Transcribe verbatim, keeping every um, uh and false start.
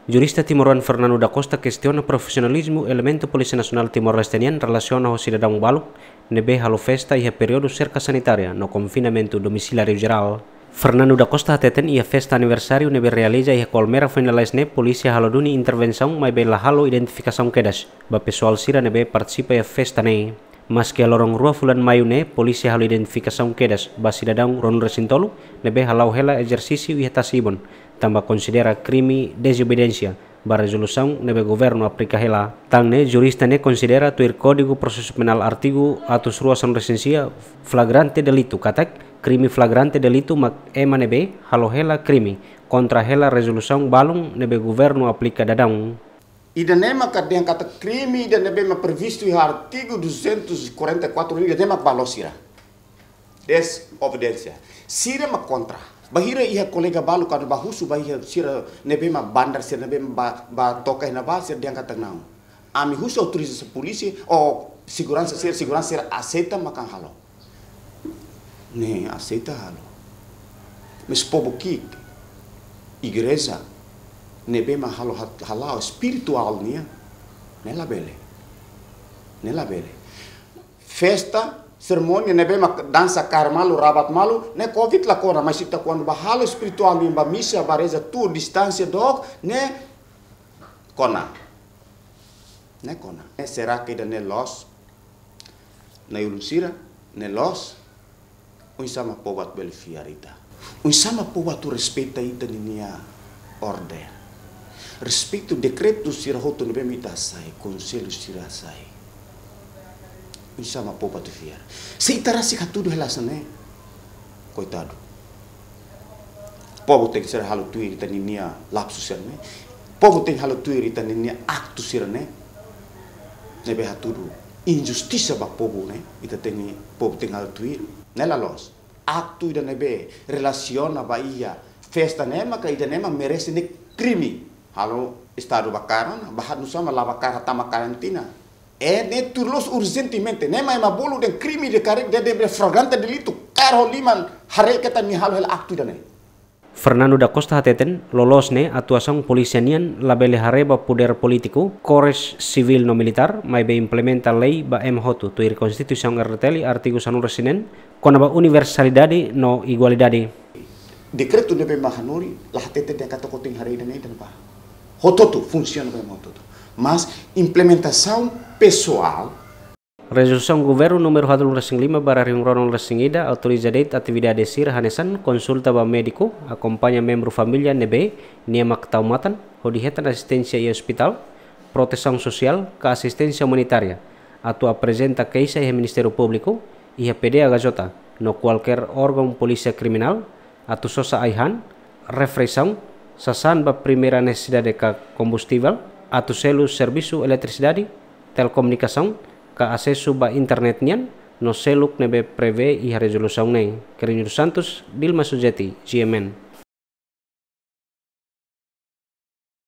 Jurista timoroan Fernando da Costa kestiona profisionalizmu elementu Polísia Nasionál Timor-Leste nian relasiona ho sidadaun balu ne'ebé halo festa iha períodu serka sanitária no konfinamentu domisiláriu jerál. Fernando da Costa hateten iha festa aniversáriu ne'ebé realiza iha Colmera foin lalais ne'e polísia halo duni intervensaun maibé la halo identifikasaun kedas ba pesoál sira ne'ebé partisipa iha festa ne'e. Maski iha loron rua fulan Maiu ne'e polísia halo identifikasaun kedas ba sidadaun ruanulu-resin-tolu ne'ebé hala'o hela ezersísiu iha tasi ibun, tanba konsidera krime dezobediénsia ba rezolusaun ne'ebé governu aplika hela. Tan ne'e jurista ne'e konsidera tuir Kódigu Prosesu Penál artigu atus rua sanulu-resin-sia flagrante delitu katak krime flagrante delitu mak ema ne'ebé halo hela krime kontra hela rezolusaun balun ne'ebé governu aplika daudaun. Ida-ne'e maka dehan katak krime ida ne'ebé mak previstu iha artigu duzentos e quarenta e quatro, ida-ne'e mak ba loos sira. Dezobediénsia. Sira mak kontra. Bainhira iha kolega balu kuandu bá husu ba iha sira ne'ebé mak bandar, sira ne'ebé mak bá, bá toka iha ne'ebá, sira dehan katak não. Ami husu autorizasaun polísia ou seguransa sira, seguransa sira aseita maka halo. Ne'e aseita halo. Mas povu ki'ik, igreja ne'ebé mak halo hat-, hala'o espirituál nian, ne'e labele. Ne'e labele. Festa, serimónia ne'ebé mak dansa kaer malu, rabat malu, ne'e covid la kona, mas ita kuandu bá halo espirituál nian, bá misa, bá reza tuur distánsia dook, ne'e kona. Ne'e kona. Ne'e será que ida-ne'e loos? Na'i-ulun sira, ne'e loos? Oinsá mak povu atu bele fiar ita? Oinsá mak povu atu respeita ita ninia orden? Respeitu dekretu sira hotu ne'ebé mak ita hasai, konsellu sira hasai. Oinsá mak povu atu fiar? Se ita rasik hatudu hela hanesan ne'e, koitadu. Povu tenke sira halo tuir ita ninia lapsu sira-ne'e. Povu tenke halo tuir ita ninia aktu sira-ne'e. Ne'ebé hatudu injustisa ba povu ne'e, ita tenke, povu tenke halo tuir. Ne'e la loos. Aktu ida ne'ebé relasiona ba iha festa ne'e maka ida-ne'e mak merese ne'e krime. Halo estadu bá kaer ona, bá halo nusá mak la bá kaer, hatama karantina. E ne'e tuir loos urjentemente, ne'e mak ema bolu dehan krime ida karik, dehan, dehan flagrante delitu, kaer ho liman, haree katak nia halo hela aktu ida-ne'e. Fernando da Costa hateten, loloos ne'e atuasaun polísia nian labele haree ba podér polítiku, kores sivíl no militár, maibé implementa lei ba ema hotu, tuir Konstituisaun R D T L artigu sanulu-resin-neen, kona-ba universalidade no igualdade. Dekretu ne'ebé mak hanorin, la hatete dehan katak ita tenke haree ida-ne'e ida-ne'ebá. Hotu-hotu, funsiona ba ema hotu-hotu. Mas implementasaun pesoál. Rezolusaun Governu númeru haatnulu-resin-lima barra rihun rua-nulu-resin-ida autoriza de'it atividade sira hanesan konsulta ba médiku, akompaña membru família ne'ebé nia mak tau matan, hodi hetan asisténsia iha ospitál, protesaun sosiál, ka asisténsia umanitária, atu aprezenta keixa iha Ministériu Públiku, iha P D H J, no kualkér órgaun polísia kriminál, atu sosa ai-han, refeisaun, sasán ba primeira nesesidade ka kombustivel, atu selu servisu eletrisidade, telekomunikasaun, ka asesu ba internet nian, no seluk ne'ebé prevee iha rezolusaun ne'e. Quirino dos Santos, Dilma Sujeti, G M N.